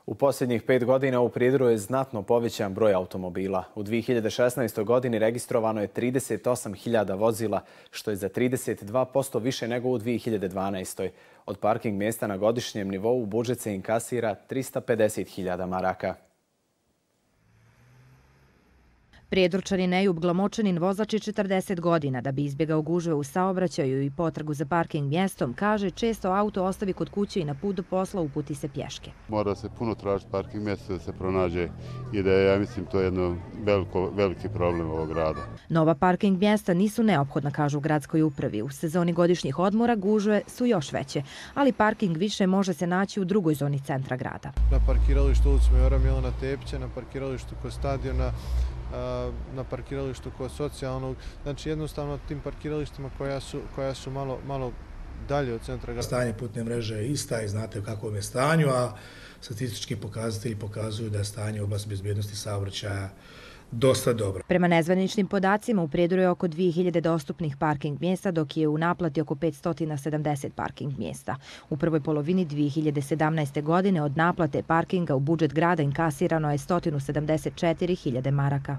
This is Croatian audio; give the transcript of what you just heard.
U posljednjih 5 godina u Prijedoru je znatno povećan broj automobila. U 2016. godini registrovano je 38.000 vozila, što je za 32% više nego u 2012. Od parking mjesta na godišnjem nivou budžet se inkasira 350.000 maraka. Prijedorčanin Ejub Glamočanin, vozač je 40 godina. Da bi izbjegao gužve u saobraćaju i potragu za parking mjestom, kaže, često auto ostavi kod kuće i na put do posla uputi se pješke. Mora se puno tražiti parking mjesto da se pronađe i da je, ja mislim, to jedno veliki problem ovog grada. Nova parking mjesta nisu neophodna, kažu u gradskoj upravi. U sezoni godišnjih odmora gužve su još veće, ali parking više može se naći u drugoj zoni centra grada. Na parkiralištu ulicu Majora Milana Tepića, na parkiralištu kod stadiona, na parkiralištu kod socijalnog, znači jednostavno tim parkiralištima koja su malo dalje od centra grada. Stanje putne mreže je ista i znate u kakvom je stanju, a statistički pokazatelji pokazuju da je stanje u oblasti bezbjednosti saobraćaja dosta dobro. Prema nezvaničnim podacima u Prijedoru je oko 2000 dostupnih parking mjesta, dok je u naplati oko 570 parking mjesta. U prvoj polovini 2017. godine od naplate parkinga u budžet grada inkasirano je 174.000 maraka.